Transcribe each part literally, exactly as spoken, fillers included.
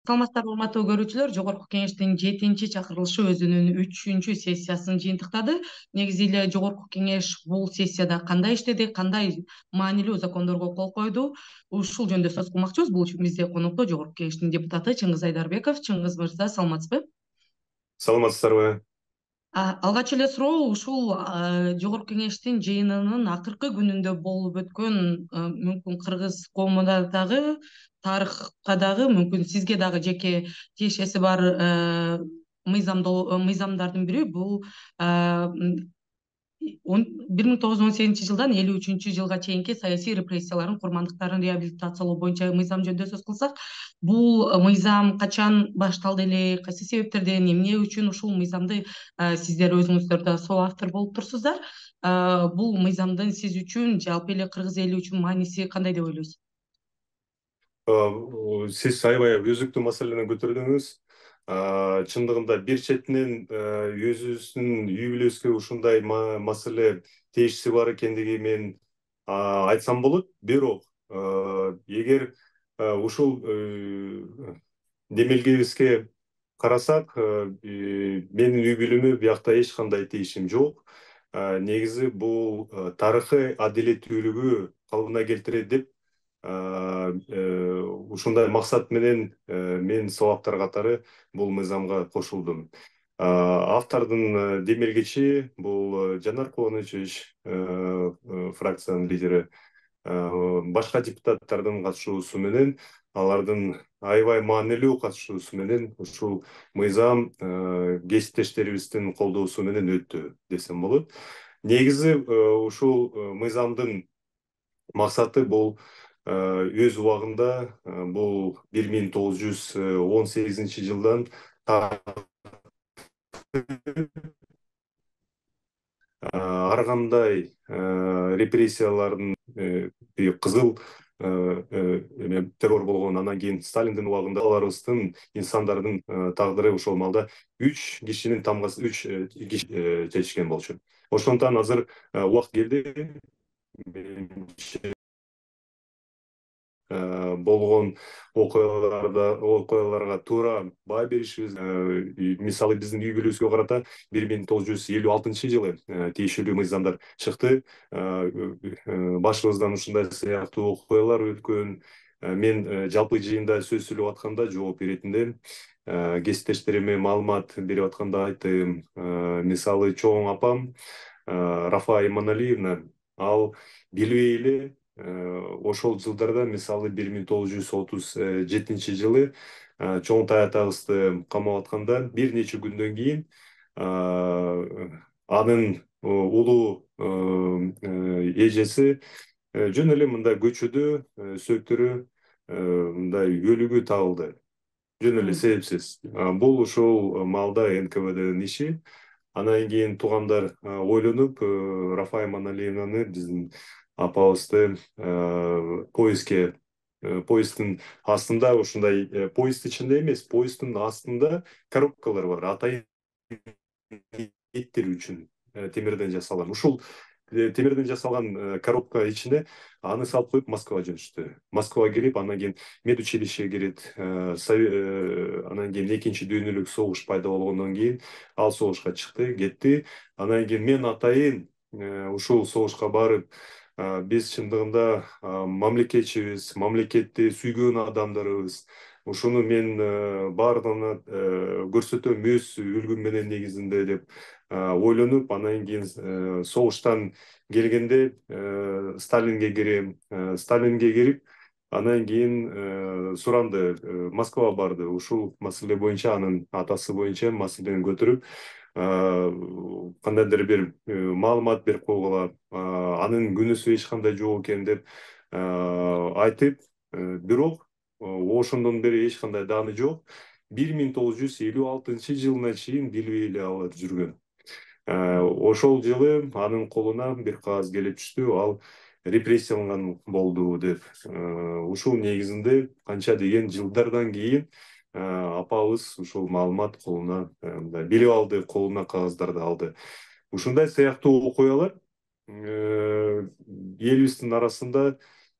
Саламатсыздарбы урматтуу көрүүчүлөр, Жогорку Кеңештин жетинчи чакырылышы өзүнүн үчүнчү сессиясын жыйынтыктады. Негизи эле Жогорку Кеңеш бул сессияда кандай иштеди, кандай маанилүү закондорго кол койду, ушул жөнүндө сөз кылмакчыбыз. Бул үчүн бизде конокто Жогорку Кеңештин депутаты Чыңгыз Айдарбеков. Чыңгыз мырза, саламатсызбы? Саламатсыздарбы? Алгач эле суроо ушул Жогорку Кеңештин жыйынынын акыркы күнүндө болуп өткөн мүмкүн кыргыз коомуна дагы, тарыхка дагы, мүмкүн сизге дагы жеке тиешеси бар мыйзамдардын бири бул бир миң тогуз жүз он сегизинчи жылдан элүү үчүнчү жылга чейинки саясий репрессиялардын курмандыктарын реабилитациялоо боюнча мыйзам жөнүндө сөз кылсак, бул мыйзам качан башталды эле, кайсы себептерден, эмне үчүн ушул мыйзамды сиздер өзүңүздөр да соавтор болуп турсуздар? Бул мыйзамдын сиз үчүн, жалпы эле кыргыз эли үчүн мааниси кандай деп ойлойсуз? Сиз аябай өзүктүү маселени көтөрдүңүз. Чындыгында бир четинен өзүбүздүн үй бүлөбүзгө ушундай маселе тиешеси бар экендиги мен айтсам болот. Бирок эгер ушул демелгебизге карасак, менин үй бүлөмө биякта эч кандай тиешим жок. Негизи бул тарыхый адилеттүүлүгү калыбына келтирет деп ушундай максат менен мен соавтор катары бул мыйзамга кошулдум. Автордун демелгечи бул Жанар Кубанычевич, фракциянын лидери, башка депутаттардын катышуусу менен, алардын аябай маанилүү катышуусу менен ушул мыйзам кесиптештерибиздин колдоосу менен өттү десем болот. Негизи ушул мыйзамдын максаты бул өз убагында бул бир миң тогуз жүз он сегизинчи жылдан ар кандай репрессиялардын кызыл террор болгон, анан кийин Сталиндин убагында аларыбыздын инсандардын тагдыры ошол маалда үч кишинин тамгасы үч киши чечишкен болчу. Ошондуктан азыр убакыт келди болгон окуяларга туура баа беришибиз. Мисалы биздин үй бүлөбүзгө карата бир миң тогуз жүз элүү алтынчы жылы тиешелүү мыйзамдар чыкты. Башыбыздан ушундай сыяктуу окуялар өткөн. Мен жалпы жыйында сөз сүйлөп атканда, жооп беретинде, кесиптештериме маалымат берип атканда айттым. Мисалы чоң апам Рафа Иманалиевна, ал билбей эле ошол жылдарда, мисалы бир миң тогуз жүз отуз жетинчи жылы Чоңтай атабызды камап атканда бир нече күндөн кийин анын улуу эжеси жөн эле мындай көчөдө сөктөрү мындай өлүгү табылды. Жөн эле себепсиз. Бул ушул маалда эн ка вэ дын иши. Анан кийин туугандар ойлонуп, Рафа Иманалиевнаны, биздин апабызды поездге, поезддин астында, ушундай поезд ичинде эмес, поезддин астында коробкалар бар, атайын эттер үчүн темирден жасалган. Ушул темирден жасалган коробка ичине аны салып коюп Москвага жөнөштү. Москвага кирип, анан кийин медучилищеге кирет. Анан кийин экинчи дүйнөлүк согуш пайда болгондон кийин ал согушка чыкты, кетти. Анан кийин мен атайын ушул согушка барып, биз чындыгында мамлекетчибиз, мамлекетти сүйгөн адамдарыбыз. Ушуну мен баардыгына көрсөтөм өз үлгүм менен негизинде деп ойлонуп, анан кийин согуштан келгенде Сталинге кирем. Сталинге кирип, анан кийин суранды, Москвага барды. Ушул маселе боюнча, анын атасы боюнча маселени көтөрүп, кандайдыр бир маалымат берип койгула, анын күнөөсү эч кандай жок экен деп айтып, бирок ошондон бери эч кандай дааны жок. бир миң тогуз жүз элүү алтынчы жылына чейин билбей эле алар жүргөн. Ошол жылы анын колуна бир кагаз келип түштү, ал репрессияланган болду деп. Ушул негизинде канча деген жылдардан кийин апабыз ушул маалымат колуна билип алды, колуна кагаздарды алды. Ушундай сыяктуу окуялар элибиздин арасында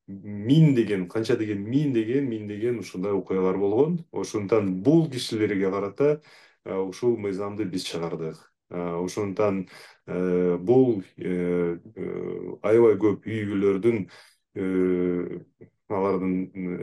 миңдеген, канча деген миңдеген, миңдеген ушундай окуялар болгон. Ошондуктан бул кишилерге карата ушул мыйзамды биз чыгардык. Ошондуктан бул аябай көп үй бүлөлөрдүн, алардын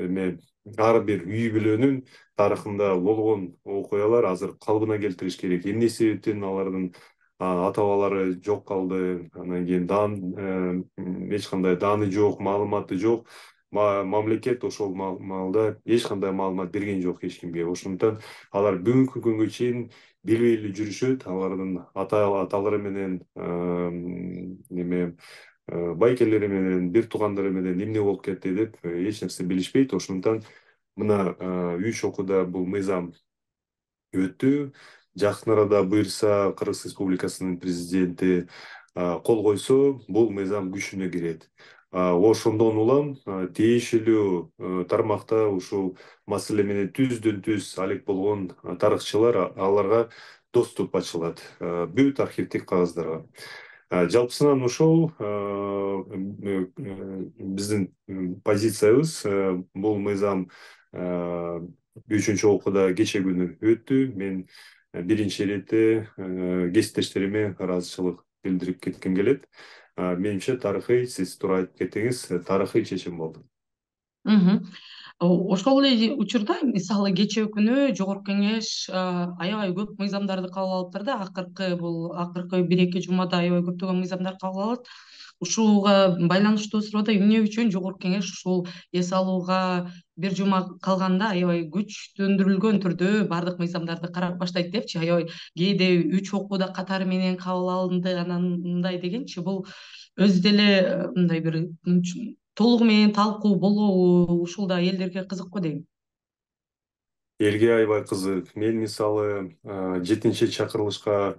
эме ар бир үй бүлөнүн тарыхында болгон окуялар азыр калыбына келтириш керек. Эмне себептен алардын ата бабалары жок калды, анан кийин даан эч кандай дааны жок, маалыматы жок. Мамлекет ошол маалда эч кандай маалымат берген жок эч кимге. Ошондуктан алар бүгүнкү күнгө чейин билбей эле жүрүшөт. Алардын ата аталары менен неме байкелери менен, бир туугандары менен эмне болуп кетти деп эч нерсе билишпейт. Ошондуктан мына үч окууда бул мыйзам өттү. Жакын арада буюрса Кыргыз Республикасынын президенти кол койсо, бул мыйзам күчүнө кирет. Ошондон улам тиешелүү тармакта ушул маселе менен түздөн түз алек болгон тарыхчылар, аларга доступ ачылат, бүт архивдик кагаздарга. Жалпысынан ошол биздин позициябыз. Бул мыйзам үчүнчү окууда кече күнү өттү. Мен биринчи ирете кесиптештериме ыраазычылык билдирип кетким келет. Менимче тарыхый, сиз туура айтып кеттиңиз, тарыхый чечим болду. Ошол эле учурда мисалы кечээ күнү Жогорку Кеңеш аябай көп мыйзамдарды кабыл алыптыр да. Акыркы бул акыркы бир эки жумада аябай көптөгөн мыйзамдар кабыл алат. Ушуга байланыштуу суроо эмне үчүн Жогорку Кеңеш ушул эс алууга бир жума калганда аябай күчтөндүрүлгөн түрдө бардык мыйзамдарды карап баштайт депчи, аябай кээде үч окууда катары менен кабыл алынды, анан мындай дегенчи, бул өзү деле мындай бир толугу менен талкуу болобу, ушул да элдерге кызык го дейм. Элге аябай кызык. Мен мисалы жетинчи чакырылышка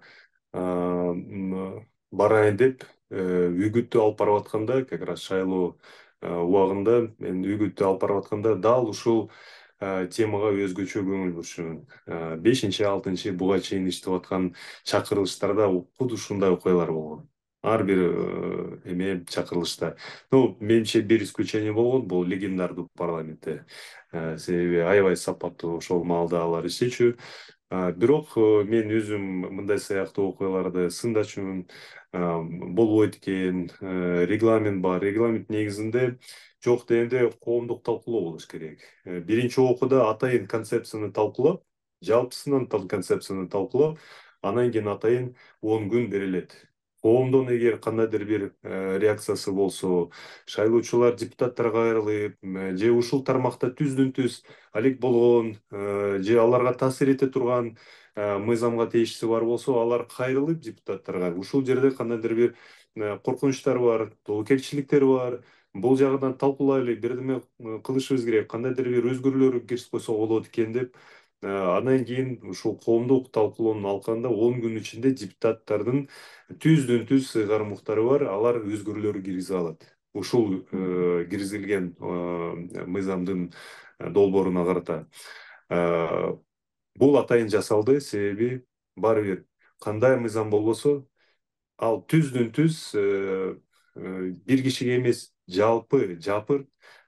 барайын деп үгүттү алып барып атканда, как раз шайлоо убагында мен үгүттү алып барып атканда дал ушул темага өзгөчө көңүл бурушумун. бешинчи, алтынчы буга чейин иштеп аткан чакырылыштарда куд ушундай окуялар болгон. Ар бир эме чакырылышта. Ну, менимче бир исключение болгон, бул легендардуу парламентте. Себеби аябай сапаттуу ошол маалда алар иштечү. Бирок мен өзүм мындай сыяктуу окуяларды сындачумун. Болбойт экен, регламент бар. Регламент негизинде жок дегенде коомдук талкуулоо болуш керек. Биринчи окууда атайын концепцияны талкуулап, жалпысынан концепцияны талкуулап, анан кийин атайын он күн берилет. Коомдон эгер кандайдыр бир реакциясы болсо, шайлоочулар депутаттарга кайрылып, же ушул тармакта түздөн түз алек болгон, же аларга таасир эте турган мыйзамга тиешеси бар болсо, алар кайрылып депутаттарга ушул жерде кандайдыр бир коркунучтар бар, тобокелчиликтер бар, бул жагынан талкуулайлы, бирдеме кылышыбыз керек, кандайдыр бир өзгөрүүлөр киргизип койсок болот экен деп, андан кийин ушул коомдук талкуулоонун алкагында он күн ичинде депутаттардын түздөн түз ыйгар муктары бар, алар өзгөрүүлөр киргизе алат. Ушул киргизилген мыйзамдын долбооруна карата. Бул атайын жасалды, себеби баары бир кандай мыйзам болбосо, ал түздөн түз бир кишиге эмес, жалпы жапыр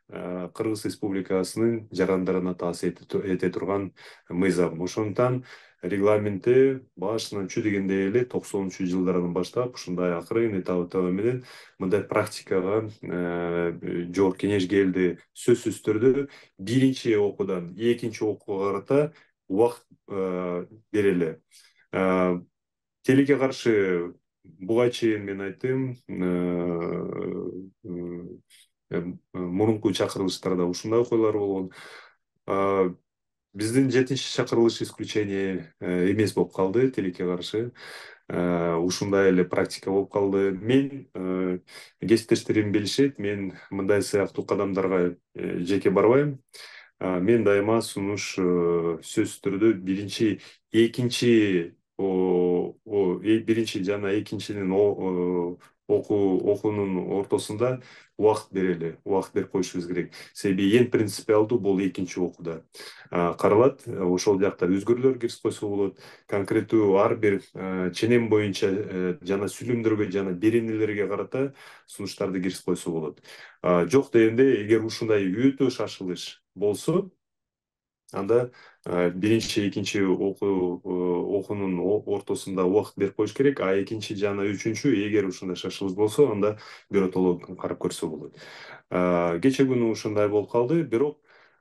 Кыргыз Республикасынын жарандарына таасир эте турган мыйзам. Ошондуктан регламентте башынан чү дегенде эле токсонунчу жылдардан баштап ушундай акырын этап менен мындай практикага Жогорку Кеңеш келди. Сөзсүз түрдө биринчи окуудан экинчи окууга карата убакыт берели. Тилекке каршы буга чейин мен айттым, мурунку чакырылыштарда ушундай окуялар болгон. Биздин жетинчи чакырылыш исключение эмес болуп калды, тилекке каршы. Ушундай эле практика болуп калды. Мен кесиптештерим билишет, мен мындай сыяктуу кадамдарга жеке барбайм. Мен дайыма сунуш сөзсүз түрдө биринчи, экинчи биринчи жана экинчинин окуу окуунун ортосунда убакыт берели, убакыт берип коюшубуз керек. Себеби эң принципиалдуу бул экинчи окууда каралат. Ошол жакта өзгөрүүлөр киргизип койсо болот. Конкреттүү ар бир ченем боюнча жана сүйлөмдөргө жана беренелерге карата сунуштарды киргизип койсо болот. Жок дегенде, эгер ушундай өтө шашылыш болсо, анда биринчи, экинчи окуу окуунун ортосунда убакыт берип коюш керек, а экинчи жана үчүнчү эгер ушундай шашылыш болсо, анда биротоло карап көрсө болот. Кече күнү ушундай болуп калды, бирок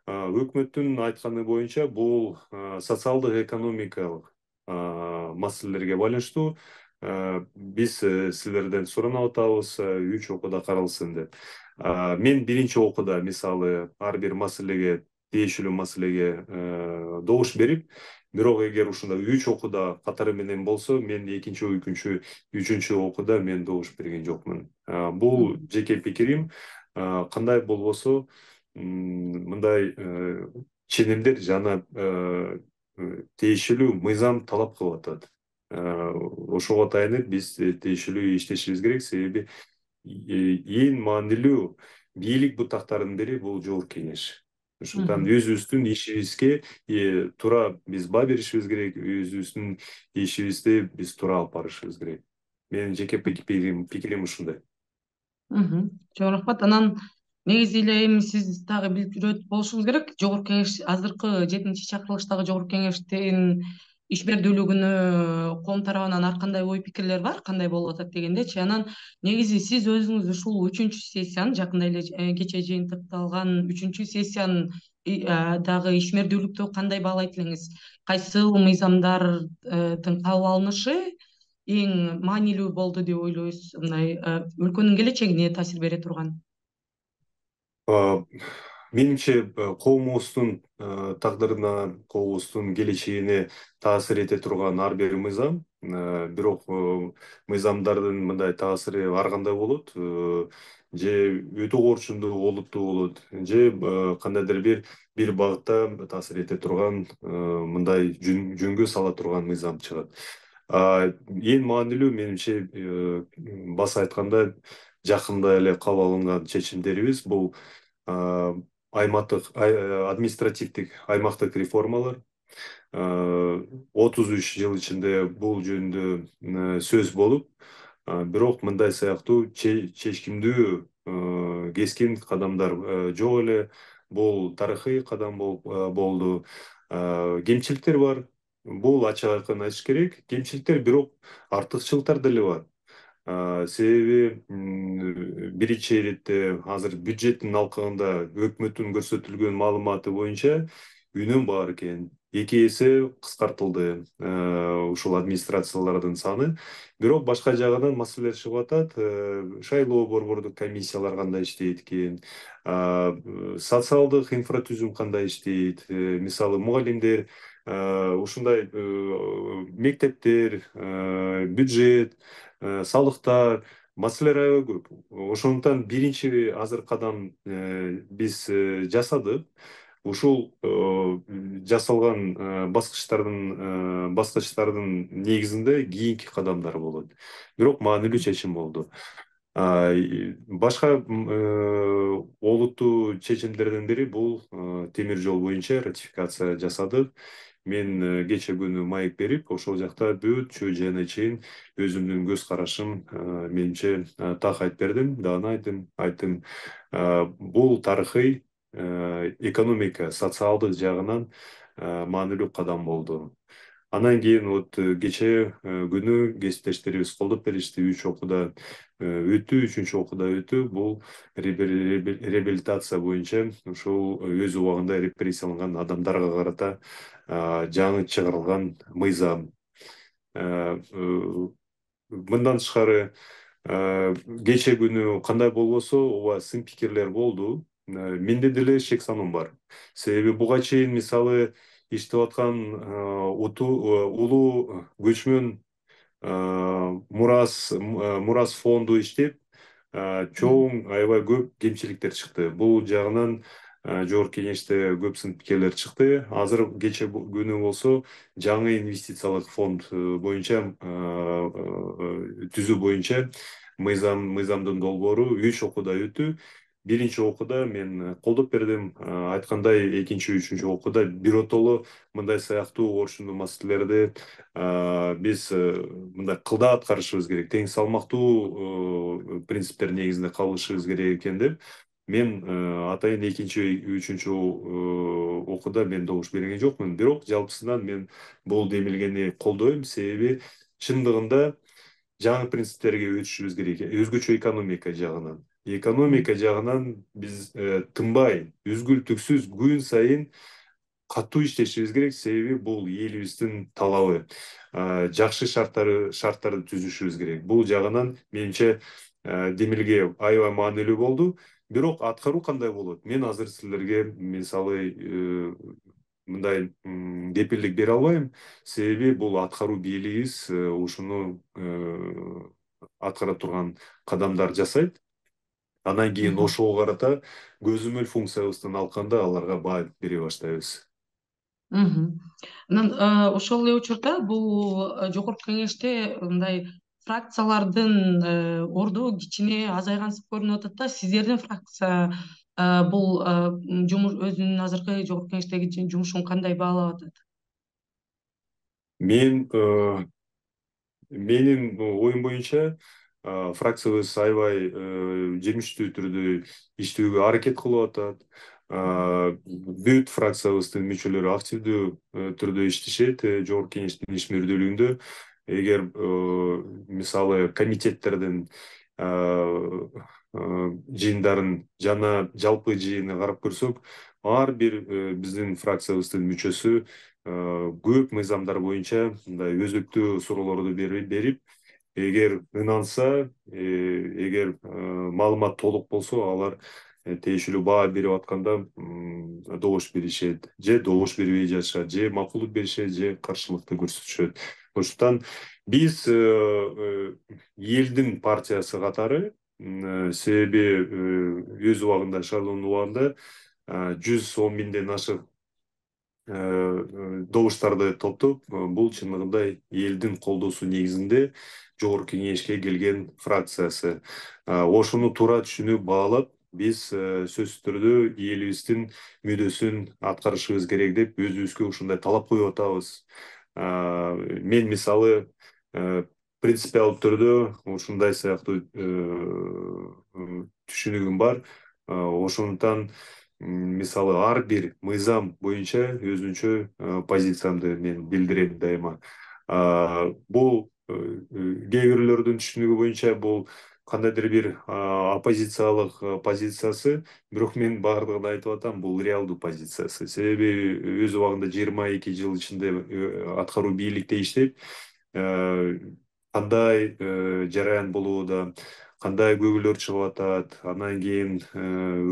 өкмөттүн айтканы боюнча бул социалдык экономикалык маселелерге байланыштуу биз силерден суранып атабыз, үч окууда каралсын деп. Мен биринчи окууда мисалы ар бир маселеге тиешелүү маселеге добуш берип, бирок эгер ушундай үч окууда катары менен болсо, мен экинчи, үчүнчү, үчүнчү окууда мен добуш берген жокмун. Бул жеке пикирим. Кандай болбосо, мындай ченемдер жана тиешелүү мыйзам талап кылып атат. Ошого таянып биз тиешелүү иштешибиз керек, себеби эң маанилүү бийлик бутактарынын бири бул Жогорку Кеңеш. Ошондуктан өзүбүздүн ишибизге туура биз баа беришибиз керек, өзүбүздүн ишибизди биз туура алып барышыбыз керек. Менин жеке пикирим ушундай. Чоң рахмат. Анан негизи эле эми сиз дагы билип жүрөт болушуңуз керек, Жогорку Кеңеш азыркы жетинчи чакырылыштагы Жогорку Кеңештин ишмердүүлүгүнө коом тарабынан ар кандай ой пикирлер бар, кандай болуп атат дегендечи. Анан негизи сиз өзүңүз ушул үчүнчү сессияны, жакында эле кечээ жыйынтыкталган үчүнчү сессиянын дагы ишмердүүлүктү кандай баалайт элеңиз? Кайсыл мыйзамдардын кабыл алынышы эң маанилүү болду деп ойлойсуз? Мындай өлкөнүн келечегине таасир бере турган. Менимче, коомубуздун тагдырына, коомубуздун келечегине таасир эте турган ар бир мыйзам, бирок мыйзамдардын мындай таасири ар кандай болот, же өтө орчундуу олуттуу болот, же кандайдыр бир бир багытта таасир эте турган, мындай жөнгө сала турган мыйзам чыгат. Эң маанилүү менимче, баса айтканда, жакында эле кабыл алынган чечимдерибиз бул аймактык административдик аймактык реформалар. отуз үч жыл ичинде бул жөнүндө сөз болуп, бирок мындай сыяктуу чечкиндүү кескин кадамдар жок эле. Бул тарыхый кадам болду. Кемчиликтер бар. Бул ачык айкын айтыш керек. Кемчиликтер, бирок артыкчылыктар деле бар. Себеби биринчи иретте азыр бюджеттин алкагында өкмөттүн көрсөтүлгөн маалыматы боюнча үнөм бар экен. Эки эсе кыскартылды ушул администрациялардын саны. Бирок башка жагынан маселелер чыгып атат. Шайлоо борбордук комиссиялар кандай иштейт экен, социалдык инфратүзүм кандай иштейт, мисалы мугалимдер, ушундай мектептер, бюджет, салыктар, маселелер аябай көп. Ошондуктан биринчи азыр кадам биз жасадык. Ушул жасалган баскычтардын баскычтардын негизинде кийинки кадамдар болот. Бирок маанилүү чечим болду. Башка олуттуу чечимдердин бири бул темир жол боюнча ратификация жасадык. Мен кече күнү маек берип, ошол жакта бүт жана чейин өзүмдүн көз карашым менимче так айтып бердим, дагы айттым, айттым. Бул тарыхый экономика, социалдык жагынан маанилүү кадам болду. Анан кийин вот кече күнү кесиптештерибиз колдоп беришти, үч окууда өттү, үчүнчү окууда өттү. Бул реабилитация боюнча ушул өз убагында репрессияланган адамдарга карата жаңы чыгарылган мыйзам. Мындан тышкары кече күнү кандай болбосо, ооба сын пикирлер болду. Менде деле шек саным бар. Себеби буга чейин мисалы иштеп аткан улуу көчмөн мурас мурас фонду иштеп, чоң аябай көп кемчиликтер чыкты. Бул жагынан Жогорку Кеңеште көп сын пикирлер чыкты. Азыр кече күнү болсо жаңы инвестициялык фонд боюнча түзүү боюнча мыйзам мыйзамдын долбоору үч окууда өттү. Биринчи окууда мен колдоп бердим. Айткандай, экинчи, үчүнчү окууда биротоло мындай сыяктуу ошондой маселелерди биз мындай кылдаа аткарышыбыз керек, тең салмактуу принциптер негизинде калышыбыз керек экен деп мен атайын экинчи, үчүнчү окууда мен добуш берген жокмун. Бирок жалпысынан мен бул демилгени колдойм, себеби чындыгында жаңы принциптерге өтүшүбүз керек. Өзгөчө экономика жагынан. Экономика жагынан биз тынбай, үзгүл түксүз күн сайын катуу иштешибиз керек, себеби бул элибиздин талабы. Жакшы шарттары шарттарды түзүшүбүз керек. Бул жагынан менимче демилге аябай маанилүү болду. Бирок аткаруу кандай болот? Мен азыр силерге мисалы мындай кепилдик бере албайм, себеби бул аткаруу бийлигибиз ушуну аткара турган кадамдар жасайт. Анан кийин ошого карата көзөмөл функциябыздан алканда аларга баа бере баштайбыз. Анан ошол эле учурда бул жогорку кеңеште мындай фракциялардын орду кичине азайгансып көрүнүп атат да. Сиздердин фракция бул жумуш өзүнүн азыркы жогорку кеңештеги жумушун кандай баалап атат? Мен менин оюм боюнча фракциябыз аябай жемиштүү түрдө иштөөгө аракет кылып атат. Бүт фракциябыздын мүчөлөрү активдүү түрдө иштешет жогорку кеңештин иш мүрдүүлүгүндө. Эгер мисалы комитеттердин жыйындарын жана жалпы жыйынды карап көрсөк, ар бир биздин фракциябыздын мүчөсү көп мыйзамдар боюнча мындай өзөктүү суроолорду берип, эгер ынанса, эгер маалымат толук болсо, алар тийиштүү баа берип атканда добуш беришет, же добуш бербей жатышат, же макулдук беришет, же каршылыкты көрсөтүшөт. Ошондуктан биз элдин партиясы катары, себеби өз убагында шайлоонун убагында жүз он миңден ашык добуштарды топтоп, бул чындыгында элдин колдоосу негизинде жогорку кеңешке келген фракциясы. Ошону туура түшүнүп баалап, биз сөзсүз түрдө элибиздин мүддөсүн аткарышыбыз керек деп өзүбүзгө ушундай талап коюп атабыз. Мен мисалы принципиалдуу түрдө ушундай сыяктуу түшүнүгүм бар. Ошондуктан мисалы ар бир мыйзам боюнча өзүнчө позициямды мен билдирем дайыма. Бул кээ бирлөрдүн түшүнүгү боюнча бул кандайдыр бир оппозициялык позициясы, бирок мен бардыгын айтып атам, бул реалдуу позициясы. Себеби өз убагында жыйырма эки жыл ичинде аткаруу бийликте иштеп, кандай жараян болууда, кандай көйгөйлөр чыгып атат, анан кийин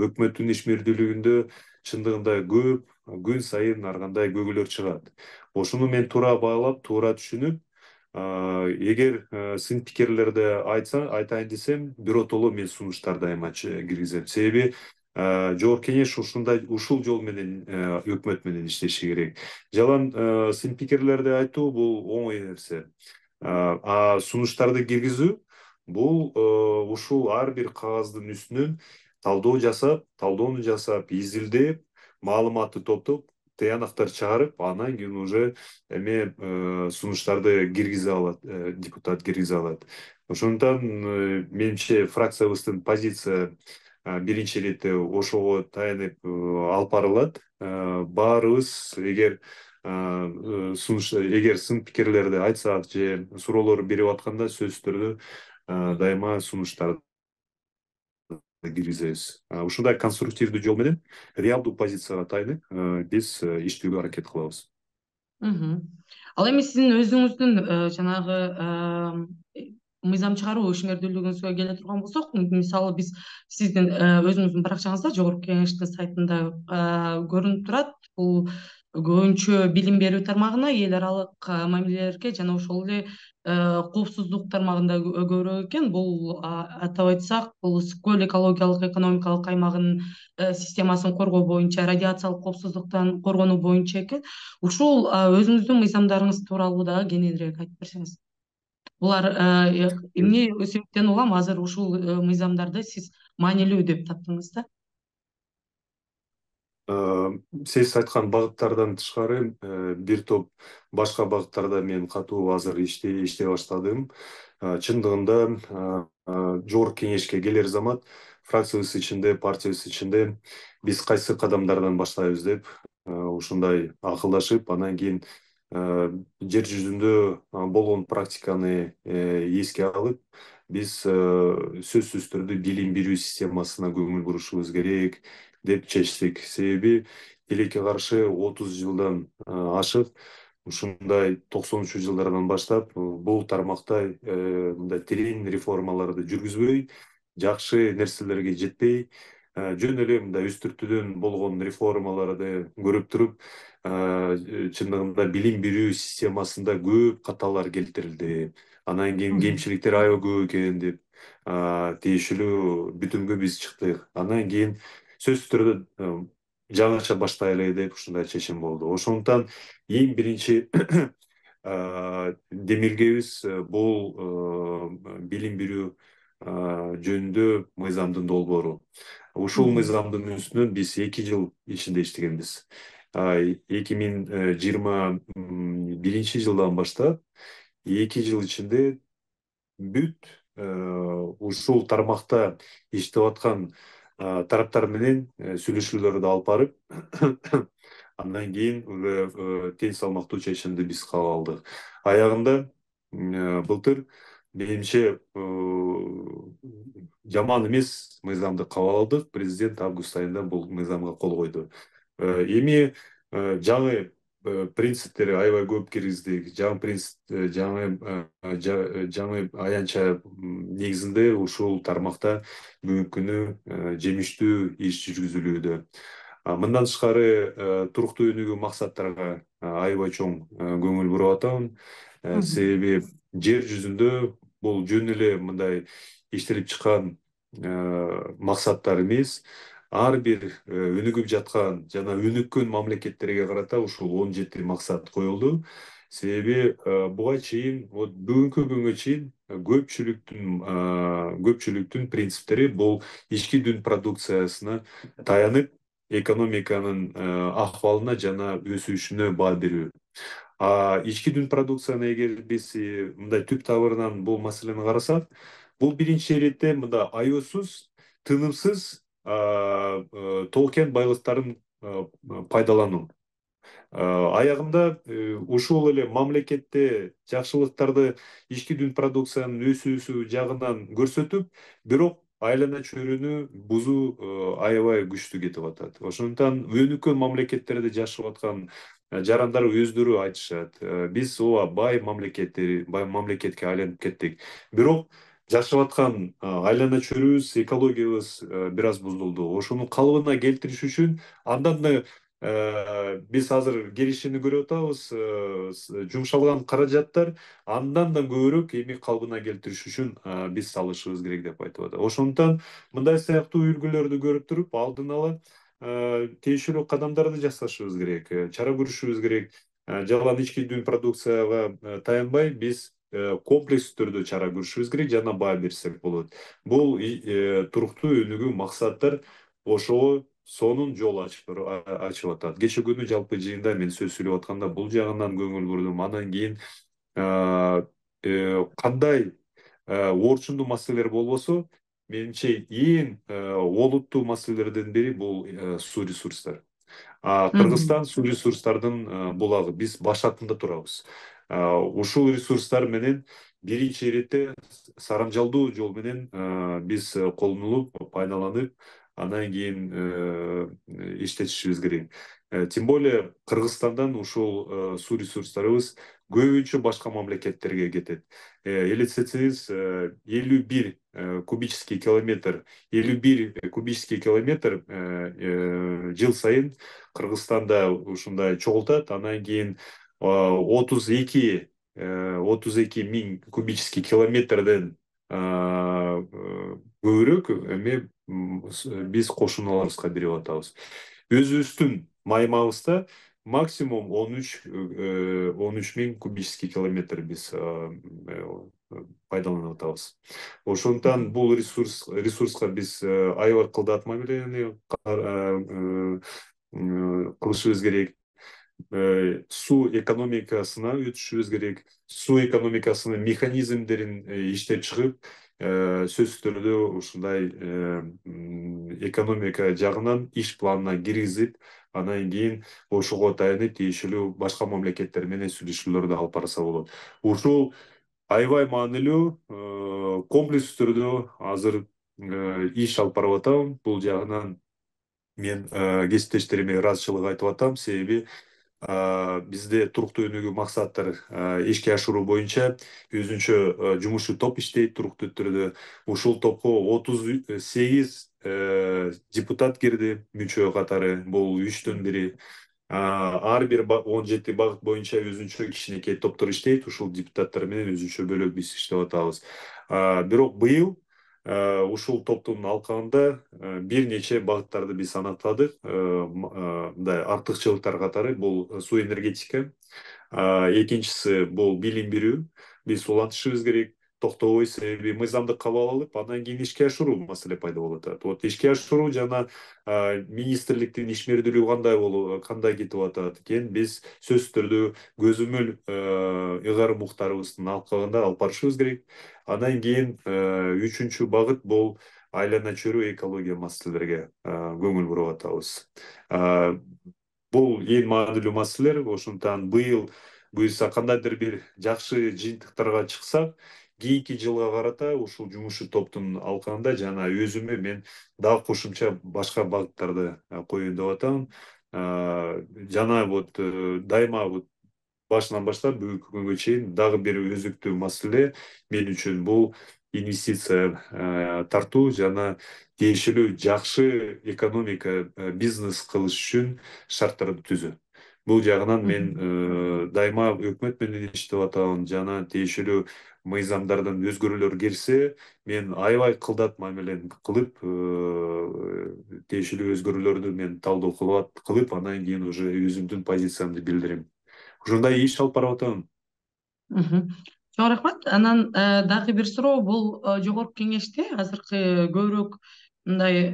өкмөттүн иш мүрдүүлүгүндө чындыгында көп күн сайын ар кандай көйгөйлөр чыгат. Ошону мен туура баалап, туура түшүнүп, эгер сын пикирлерди айтса, айтайын десем, биротоло мен сунуштар дайыма киргизем. Себеби жогорку кеңеш ушундай ушул жол менен өкмөт менен иштеши керек. Жалаң сын пикирлерди айтуу бул оңой нерсе. А сунуштарды киргизүү бул ушул ар бир кагаздын үстүнөн талдоо жасап, талдоону жасап, изилдеп, маалыматты топтоп, тыянактар чыгарып, анан кийин уже эме сунуштарды киргизе алат, депутат киргизе алат. Ошондуктан менимче фракциябыздын позиция биринчи иретте ошого таянып алып барылат. Баарыбыз эгер сунуш эгер сын пикирлерди айтсак же суроолор берип атканда сөзсүз түрдө дайыма сунуштарды киргизебиз. Ушундай конструктивдүү жол менен, реалдуу позицияга таянып, биз иштөөгө аракет кылабыз. Ал эми сиздин өзүңүздүн жанагы мыйзам чыгаруу ишмердүүлүгүңүзгө келе турган болсок, мисалы биз сиздин өзүңүздүн баракчаңызда жогорку кеңештин сайтында көрүнүп турат. Бул көбүнчө билим берүү тармагына, эл аралык мамилелерге жана ошол эле коопсуздук тармагында көбүрөөк экен. Бул атап айтсак, бул Скөл экологиялык экономикалык аймагынын системасын коргоо боюнча, радиациялык коопсуздуктан коргонуу боюнча экен. Ушул өзүңүздүн мыйзамдарыңыз тууралуу дагы кененирээк айтып берсеңиз. Булар эмне себептен улам азыр ушул мыйзамдарды сиз маанилүү деп таптыңыз да? Сиз айткан багыттардан тышкары бир топ башка багыттарда мен катуу азыр иштей иштей баштадым. Чындыгында жогорку кеңешке келер замат фракциябыз ичинде, партиябыз ичинде биз кайсы кадамдардан баштайбыз деп ушундай акылдашып, анан кийин жер жүзүндө болгон практиканы эске алып, биз сөзсүз түрдө билим берүү системасына көңүл бурушубуз керек деп чечтик. Себеби тилекке каршы отуз жылдан ашык ушундай токсонунчу жылдардан баштап бул тармакта мындай терең реформаларды жүргүзбөй, жакшы нерселерге жетпей, жөн эле мындай үстүртүдөн болгон реформаларды көрүп туруп, чындыгында билим берүү системасында көп каталар келтирилди. Анан кийин кемчиликтер аябай көп экен деп тиешелүү бүтүмгө биз чыктык. Анан кийин сөзсүз түрдө жаңыча баштайлы деп ушундай чечим болду. Ошондуктан эң биринчи демилгебиз бул билим берүү жөнүндө мыйзамдын долбоору. Ушул мыйзамдын үстүнөн биз эки жыл ичинде иштегенбиз. эки миң жыйырма биринчи жылдан баштап эки жыл ичинде бүт ушул тармакта иштеп аткан тараптар менен сүйлөшүүлөрдү алып барып, андан кийин тең салмактуу чечимди биз кабыл алдык. Аягында былтыр менимче жаман эмес мыйзамды кабыл алдык. Президент август айында бул мыйзамга кол койду. Эми жаңы принциптери аябай көп киргиздик. Жаңы принцип, жаңы жаңы аянтча негизинде ушул тармакта бүгүнкү күнү жемиштүү иш жүргүзүлүүдө. Мындан тышкары туруктуу өнүгүү максаттарга аябай чоң көңүл буруп атабын. Себеби жер жүзүндө бул жөн эле мындай иштелип чыккан максаттар эмес, ар бир өнүгүп жаткан жана өнүккөн мамлекеттерге карата ушул он жети максат коюлду. Себеби буга чейин, вот бүгүнкү күнгө чейин көпчүлүктүн көпчүлүктүн принциптери бул ички дүн продукциясына таянып, экономиканын акыбалына жана өсүшүнө баа берүү. А ички дүн продукцияны эгер биз мындай түп табырынан бул маселени карасак, бул биринчи иретте мында аеосуз, тынымсыз тоо кен байлыктарын пайдалануу. Аягында ушул эле мамлекетте жакшылыктарды ички дүн продукциянын өсүүсү жагынан көрсөтүп, бирок айлана чөйрөнү бузуу аябай күчтүү кетип атат. Ошондуктан өнүккөн мамлекеттерде жашап аткан жарандар өздөрү айтышат. Биз ооба бай мамлекеттер, бай мамлекетке айланып кеттик. Бирок жашап аткан айлана чөйрөбүз, экологиябыз бир аз бузулду. Ошону калыбына келтириш үчүн андан да биз азыр келишимди көрүп атабыз, жумшалган каражаттар андан да көбүрөөк эми калыбына келтириш үчүн биз салышыбыз керек деп айтып атат. Ошондуктан мындай сыяктуу үлгүлөрдү көрүп туруп, алдын ала тиешелүү кадамдарды жасашыбыз керек, чара көрүшүбүз керек. Жалган ички дүн продукцияга таянбай, биз комплекстүү түрдө чара көрүшүбүз керек, жана баа берсек болот. Бул туруктуу өнүгүү максаттар ошого сонун жол ачып атат. Кече күнү жалпы жыйында мен сөз сүйлөп атканда бул жагынан көңүл бурдум. Андан кийин кандай орчундуу маселелер болбосо, менимче эң олуттуу маселелердин бири бул суу ресурстары. Кыргызстан суу ресурстардын булагы, биз баш атында турабыз. Ушул ресурстар менен биринчи иретте сарамжалдуу жол менен биз колдонулуп, пайдаланып, андан кийин иштетишибиз керек. Тем более Кыргызстандан ушул суу ресурстарыбыз көбүнчө башка мамлекеттерге кетет. Элестетсеңиз, элүү бир кубический километр, элүү бир кубический километр жыл сайын Кыргызстанда ушундай чогултат. Андан кийин отуз эки миң кубический километрден көбүрөөк эме биз кошуналарыбызга берип атабыз. Өзүбүздүн майымыбызда максимум он үч миң кубический километр биз пайдаланып атабыз. Ошондуктан бул ресурс ресурска биз аябай кылдат мамилени кылышыбыз керек. Суу экономикасына өтүшүбүз керек. Суу экономикасынын механизмдерин иштеп чыгып, сөзсүз түрдө ушундай экономика жагынан иш планына киргизип, анан кийин ошого таянып тиешелүү башка мамлекеттер менен сүйлөшүүлөрдү алып барса болот. Ушул аябай маанилүү, комплекс түрдө азыр иш алып барып атам. Бул жагынан мен кесиптештериме ыраазычылык айтып атам, себеби бизде туруктуу өнүгүү максаттар ишке ашыруу боюнча өзүнчө жумушчу топ иштейт туруктуу түрдө. Ушул топко отуз сегиз депутат кирди мүчө катары, бул үчтөн бири. Ар бир он жети багыт боюнча өзүнчө кичинекей топтор иштейт, ушул депутаттар менен өзүнчө бөлөк биз иштеп атабыз. Бирок быйыл ушул топтун алкагында бир нече багыттарды биз аныктадык. Мындай артыкчылыктар катары бул суу энергетика, экинчиси бул билим берүү. Биз улантышыбыз керек, токтобой, себеби мыйзамды кабыл алып, андан кийин ишке ашыруу маселе пайда болуп атат. Вот ишке ашыруу жана министрликтин ишмердүүлүгү кандай болуп, кандай кетип атат экен, биз сөзсүз түрдө көзөмөл ыйгарым уктарыбыздын алкагында алып барышыбыз керек. Андан кийин үчүнчү багыт бул айлана чөйрө экология маселелерге көңүл буруп атабыз. Бул эң маанилүү маселелер. Ошондуктан быйыл буюрса кандайдыр бир жакшы жыйынтыктарга чыксак, кийинки жылга карата ушул жумушчу топтун алкагында жана өзүмө мен дагы кошумча башка багыттарды коеюн деп атам. Жана вот дайыма вот башынан баштап бүгүнкү күнгө чейин дагы бир өзүктүү маселе мен үчүн бул инвестиция тартуу жана тиешелүү жакшы экономика бизнес кылыш үчүн шарттарды түзүү. Бул жагынан мен дайыма өкмөт менен иштеп атам жана тиешелүү мыйзамдардын өзгөрүүлөр келсе, мен аябай кылдат мамилени кылып, тиешелүү өзгөрүүлөрдү мен талдоо кылып, андан кийин уже өзүмдүн позициямды билдирем. Ушундай иш алып барып атам. Чоң рахмат. Анан дагы бир суроо, бул жогорку кеңеште азыркы көбүрөөк мындай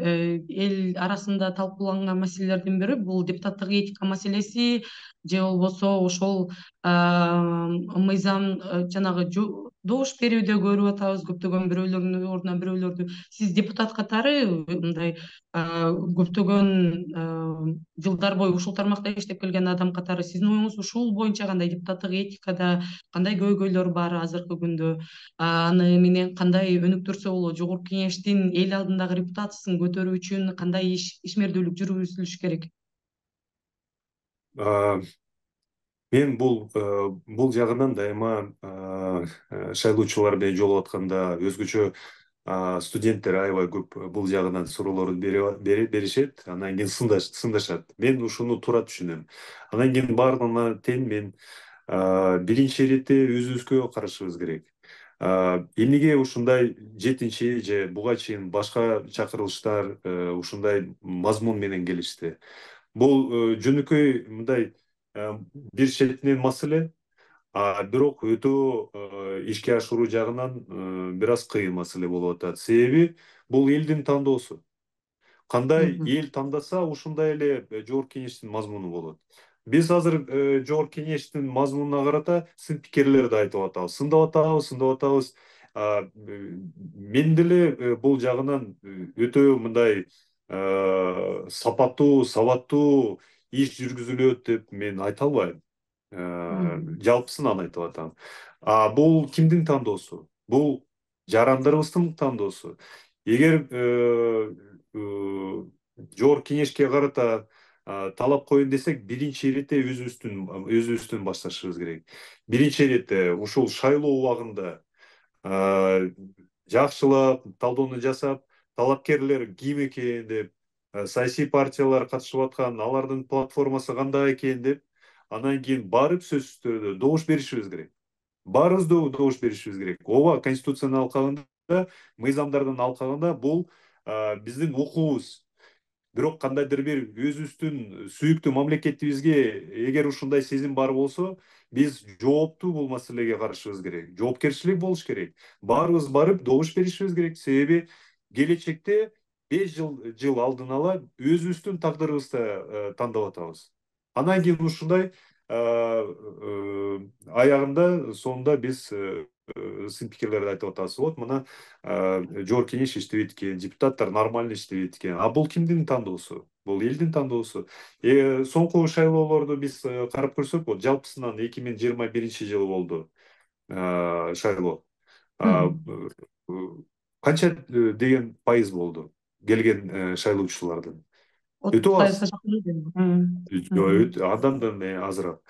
эл арасында талкууланган маселелердин бири бул депутаттык этика маселеси же болбосо ошол мыйзам жанагы добуш берүүдө көрүп атабыз көптөгөн бирөөлөрдүн ордуна бирөөлөрдү. Сиз депутат катары мындай көптөгөн жылдар бою ушул тармакта иштеп келген адам катары сиздин оюңуз ушул боюнча кандай, депутаттык этикада кандай көйгөйлөр бар азыркы күндө? Аны менен кандай өнүктүрсө болот? Жогорку кеңештин эл алдындагы репутациясын көтөрүү үчүн кандай ишмердүүлүк жүргүзүлүш керек? Мен бул бул жагынан дайыма шайлоочулар менен жолугуп атканда өзгөчө студенттер аябай көп бул жагынан суроолорду беришет, андан кийин сындашат. Мен ушуну туура түшүнөм. Андан кийин баарына тең мен биринчи иретте өзүбүзгө карашыбыз керек. Эмнеге ушундай жетинчи же буга чейин башка чакырылыштар ушундай мазмун менен келишти? Бул жөнөкөй мындай бир четинен маселе, бирок өтө ишке ашыруу жагынан бир аз кыйын маселе болуп атат. Себеби бул элдин тандоосу. Кандай эл тандаса, ушундай эле жогорку кеңештин мазмуну болот. Биз азыр жогорку кеңештин мазмунуна карата сын пикирлерди айтып атабыз. Сындап атабыз, сындап атабыз. Мен деле бул жагынан өтө мындай сапаттуу, сабаттуу иш жүргүзүлөт деп мен айта албайм. Жалпысынан айтып атам. Бул кимдин тандоосу? Бул жарандарыбыздын тандоосу. Эгер жогорку кеңешке карата талап коеюн десек, биринчи иретте өзүбүздүн өзүбүздөн башташыбыз керек. Биринчи иретте ушул шайлоо убагында жакшылап талдоону жасап, талапкерлер ким экен деп, саясий партиялар катышып аткан, алардын платформасы кандай экен деп, андан кийин барып сөзсүз түрдө добуш беришибиз керек. Баарыбыз добуш беришибиз керек. Ооба, конституциянын алкагында, мыйзамдардын алкагында бул биздин укугубуз. бирок кандайдыр бир өзүбүздүн сүйүктүү мамлекетибизге эгер ушундай сезим бар болсо, биз жооптуу бул маселеге карашыбыз керек. Жоопкерчилик болуш керек. Баарыбыз барып добуш беришибиз керек. Себеби келечекте беш жыл жыл алдын ала өзүбүздүн тагдырыбызды тандап атабыз. Анан кийин ушундай аягында сонунда биз сын пикирлерди айтып атабыз. Вот мына жогорку кеңеш иштебейт экен, депутаттар нормально иштебейт экен. А бул кимдин тандоосу? Бул элдин тандоосу. Соңку шайлоолорду биз карап көрсөк, вот жалпысынан эки миң жыйырма биринчи жылы болду шайлоо. Канча деген пайыз болду келген шайлоочулардын? отуз пайызга жакын. Андан да азыраак.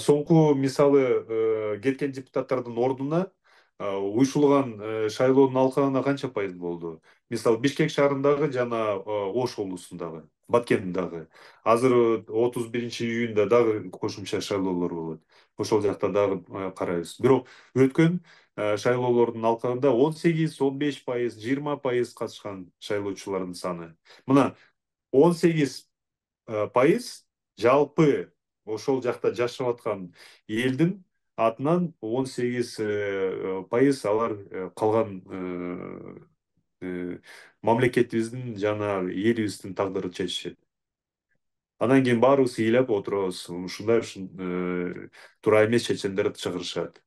Соңку мисалы кеткен депутаттардын ордуна уюшулган шайлоонун алкагына канча пайыз болду? Мисалы Бишкек шаарындагы жана Ош облусундагы, Баткендагы. Азыр отуз биринчи июнда дагы кошумча шайлоолор болот. Ошол жакта дагы карайбыз. Бирок өткөн шайлоолордун алкагында он сегиз, он беш пайыз, жыйырма пайыз катышкан шайлоочулардын саны. Мына он сегиз пайыз жалпы ошол жакта жашап аткан элдин атынан он сегиз пайыз алар калган мамлекетибиздин жана элибиздин тагдырын чечишет. Анан кийин баарыбыз ыйлап отурабыз, ушундай туура эмес чечимдерди чыгарышат.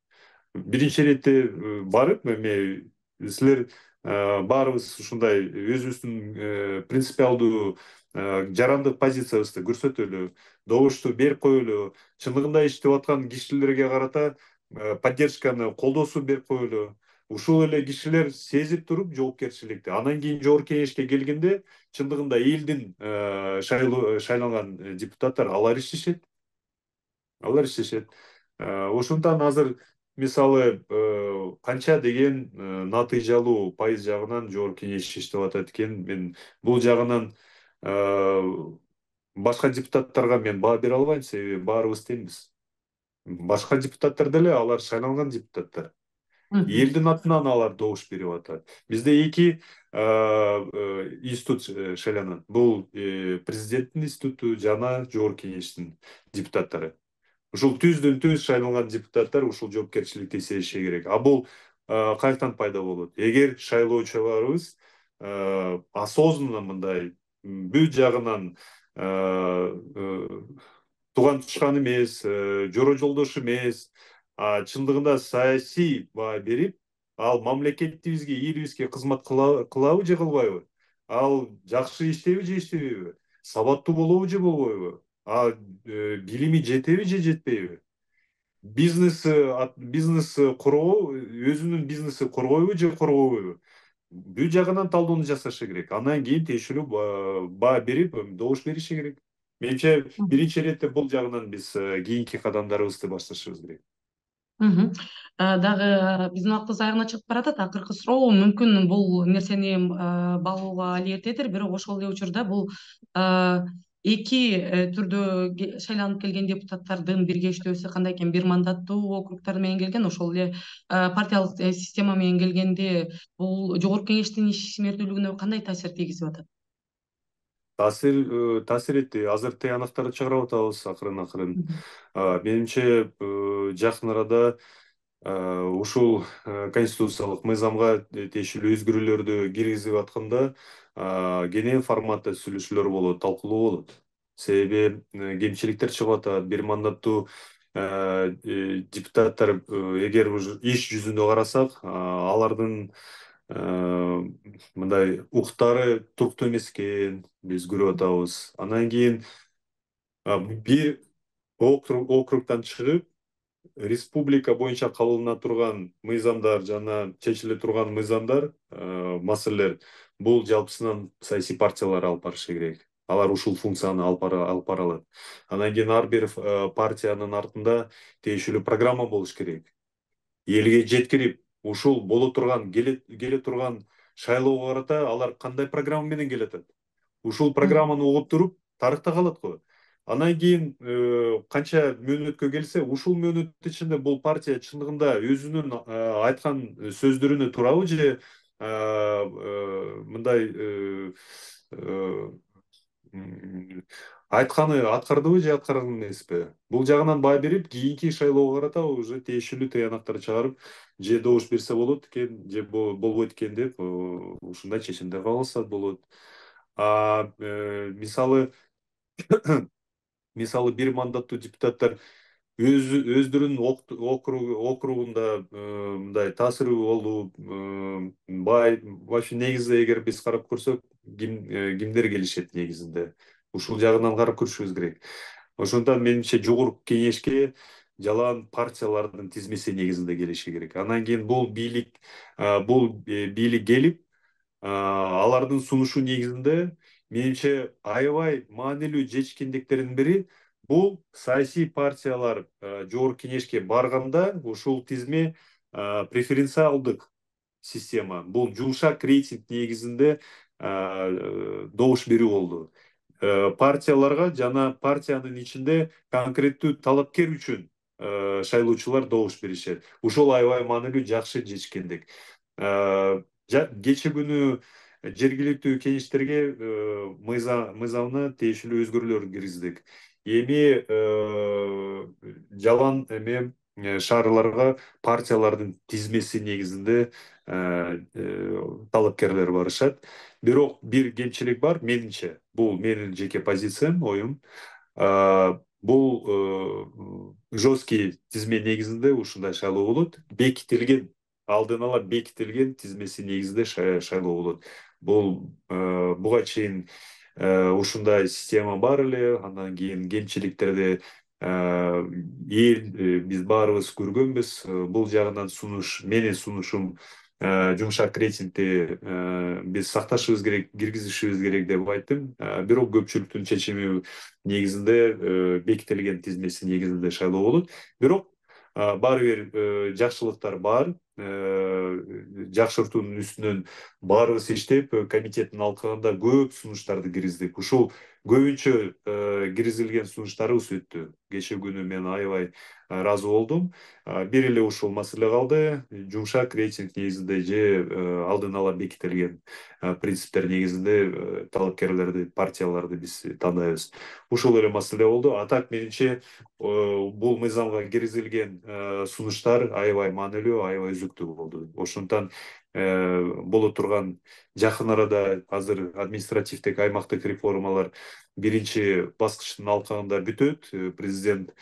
Биринчи иретте барып, эме силер баарыбыз ушундай өзүбүздүн принципиалдуу жарандык позициябызды көрсөтөлү, добушту берип коелу, чындыгында иштеп аткан кишилерге карата поддержканы, колдоосу берип коелу. Ушул эле кишилер сезип туруп жоопкерчиликти. Анан кийин жогорку кеңешке келгенде чындыгында элдин шайланган депутаттар алар иштешет. Алар иштешет. Ошондуктан азыр мисалы канча деген натыйжалуу пайыз жагынан жогорку кеңеш иштеп атат экен. Мен бул жагынан башка депутаттарга мен баа бере албайм, себеби баарыбыз теңбиз. Башка депутаттар деле алар шайланган депутаттар. Элдин атынан алар добуш берип атат. Бизде эки институт шайланат. Бул президенттин институту жана жогорку кеңештин депутаттары. Ушул түздөн түз шайланган депутаттар ушул жоопкерчиликти сезиши керек. А бул каяктан пайда болот? Эгер шайлоочуларыбыз осознанно мындай бүт жагынан туган тушкан эмес, жора жолдош эмес, чындыгында саясий баа берип, ал мамлекетибизге, элибизге кызмат кылабы же кылбайбы? Ал жакшы иштейби же иштебейби? Сабаттуу болобу же болбойбу? А билими жетеби же жетпейби? Бизнеси, бизнеси коргоо, өзүнүн бизнеси коргойбу же коргобойбу? Бүт жагынан талдоону жасашы керек. Андан кийин тиешелүү баа берип, добуш бериши керек. Менимче биринчи иретте бул жагынан биз кийинки кадамдарыбызды башташыбыз керек. Дагы биздин убактыбыз аягына чыгып баратат. Акыркы суроо мүмкүн бул нерсени багууга али эртедир, бирок ошол эле учурда бул эки түрдө шайланып келген депутаттардын биргештөөсү кандай экен? Бир мандаттуу округтар менен келген, ошол эле партиялык система менен келгенде бул жогорку кеңештин ишмердүүлүгүнө кандай таасир тийгизип атат? Таасир таасир этти. Азыр тыянактарды чыгарып атабыз акырын акырын. Менимче жакын арада ушул конституциялык мыйзамга тиешелүү өзгөрүүлөрдү киргизип атканда кенен форматта сүйлөшүүлөр болот, талкуулоо болот. Себеби кемчиликтер чыгып атат. Бир мандаттуу депутаттар эгер иш жүзүндө карасак, алардын мындай уктары туруктуу эмес экен, биз көрүп атабыз. Андан кийин бир округдан чыгып, республика боюнча кабылдана турган мыйзамдар жана чечиле турган мыйзамдар, маселелер бул жалпысынан саясий партиялар алып барышы керек. Алар ушул функцияны алып бара алат. Андан кийин ар бир партиянын артында тиешелүү программа болуш керек. Элге жеткирип, ушул боло турган, келе турган шайлоого карата алар кандай программа менен келатат? Ушул программаны угуп туруп, тарыхта калат го. Андан кийин канча мөөнөткө келсе, ушул мөөнөт ичинде бул партия чындыгында өзүнүн айткан сөздөрүнө туурабы же мындай айтканы аткардыбы же аткарган эмеспи? Бул жагынан баа берип, кийинки шайлоого карата уже тиешелүү тыянактар чыгарып, же добуш берсе болот экен, же болбойт экен деп ушундай чечимдер кабыл алса болот. А мисалы мисалы бир мандаттуу депутаттар өз өздөрүнүн округунда мындай таасирүү болуп бай вообще негизи эгер биз карап көрсөк кимдер келишет негизинде ушул жагынан карап көрүшүбүз керек. Ошондон менимче жогорку кеңешке жалаан партиялардын тизмеси негизинде келиши керек. Анан кийин бул бийлик бул бийлик келип алардын сунушу негизинде менимче аябай маанилүү жетишкендиктердин бири бул саясий партиялар жогорку кеңешке барганда ушул тизме преференциалдык система, бул жумшак рейтинг негизинде добуш берүү болду. Партияларга жана партиянын ичинде конкреттүү талапкер үчүн шайлоочулар добуш беришет. Ушул аябай маанилүү жакшы жетишкендик. Кечээ күнү жергиликтүү кеңештерге мыйзамына тиешелүү өзгөрүүлөр киргиздик. Эми жалаан эме шаарларга партиялардын тизмеси негизинде талапкерлер барышат. Бирок бир кемчилик бар менимче. Бул менин жеке позициям, оюм. Бул жесткий тизме негизинде ушундай шайлоо болот. Бекитилген, алдын ала бекитилген тизмеси негизинде шайлоо болот. Бул буга чейин ушундай система бар эле, андан кийин кемчиликтерди эл биз баарыбыз көргөнбүз. Бул жагынан сунуш, менин сунушум жумшак рейтингди биз сакташыбыз керек, киргизишибиз керек деп айттым. Бирок көпчүлүктүн чечими негизинде бекитилген тизмеси негизинде шайлоо болот. Бирок баары бир жакшылыктар бар. Жакшыртуунун үстүнөн баарыбыз иштеп, комитеттин алкагында көп сунуштарды киргиздик. Ушул көбүнчө киргизилген сунуштарыбыз өттү. Кечээ күнү мен аябай ыраазы болдум. Бир эле ушул маселе калды. Жумшак рейтинг негизинде же алдын ала бекитилген принциптер негизинде талапкерлерди, партияларды биз тандайбыз. Ушул эле маселе болду. А так менимче бул мыйзамга киргизилген сунуштар аябай маанилүү, аябай үзүктүү болду. Ошондон боло турган жакын арада азыр административдик аймактык реформалар биринчи баскычтын алкагында бүтөт. Президент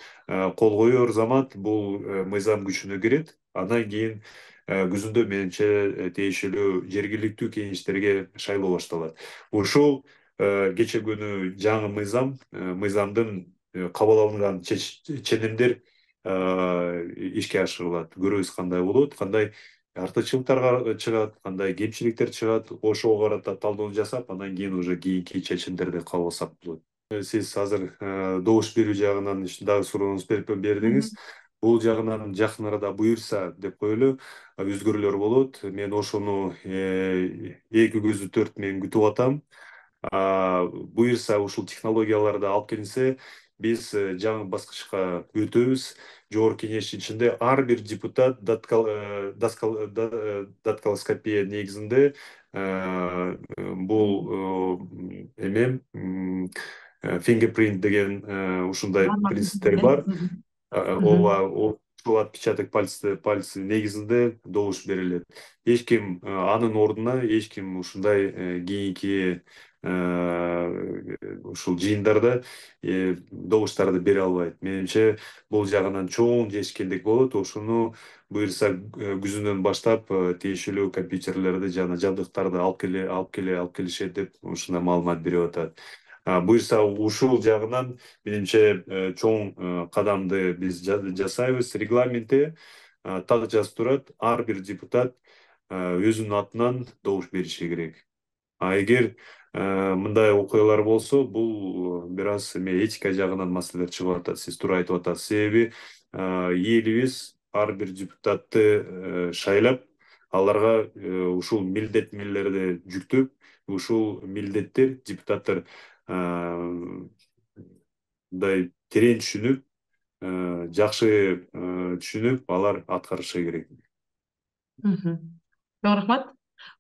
кол коер замат бул мыйзам күчүнө кирет. Андан кийин күзүндө менимче тиешелүү жергиликтүү кеңештерге шайлоо башталат. Ушул кечээ күнү жаңы мыйзам, мыйзамдын кабыл алынган ченемдер ишке ашырылат. Көрөбүз кандай болот, кандай артыкчылыктар чыгат, кандай кемчиликтер чыгат. Ошого карата талдоо жасап, андан кийин уже кийинки чечимдерди кабыл алсак болот. Сиз азыр добуш берүү жагынан дагы сурооңуз бердиңиз. Бул жагынан жакын арада буюрса деп коелу, өзгөрүүлөр болот. Мен ошону эки көзү төрт менен күтүп атам. Буюрса ушул технологияларды алып келинсе, биз жаңы баскычка өтөбүз. Жогорку кеңештин ичинде ар бир депутат дактилоскопия негизинде бул эме фингерпринт деген ушундай принциптер бар. Ооба, ушул отпечаток пальцы пальцы негизинде добуш берилет. Эч ким анын ордуна эч ким ушундай кийинки ушул жыйындарда добуштарды бере албайт. Менимче бул жагынан чоң жетишкендик болот. Ошону буюрса күзүнөн баштап тиешелүү компьютерлерди жана жабдыктарды алып келе алып келе алып келишет деп ушундай маалымат берип атат. Буюрса ушул жагынан менимче чоң кадамды биз жасайбыз. Регламентте так жазып турат, ар бир депутат өзүнүн атынан добуш бериши керек. А эгер мындай окуялар болсо, бул бир аз эме этика жагынан маселелер чыгып атат. Сиз туура айтып атасыз. Себеби элибиз ар бир депутатты шайлап, аларга ушул милдеттенмелерди жүктөп, ушул милдеттер депутаттар мындай терең түшүнүп, жакшы түшүнүп, алар аткарышы керек. Жок, рахмат.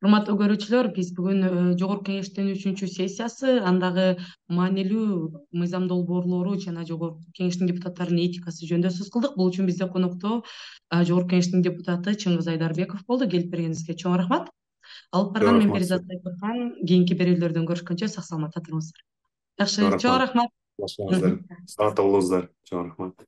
Урматтуу көрүүчүлөр, биз бүгүн э, Жогорку Кеңештин үчүнчү сессиясы, андагы маанилүү мыйзам долбоорлору жана Жогорку Кеңештин депутаттарынын этикасы жөнүндө сөз кылдык. Бул үчүн бизде конокто э, Жогорку Кеңештин депутаты Чыңгыз Айдарбеков болду. Келип бергениңизге чоң рахмат. Алып Чоң барган мен рахмат Перизат сизге. Сайпыркан. Кийинки берүүлөрдөн көрүшкөнчө сак саламатта туруңуздар. Чоң Жакшы, чоң рахмат. рахмат. Башыңыздар. Сау болуңуздар. Чоң рахмат.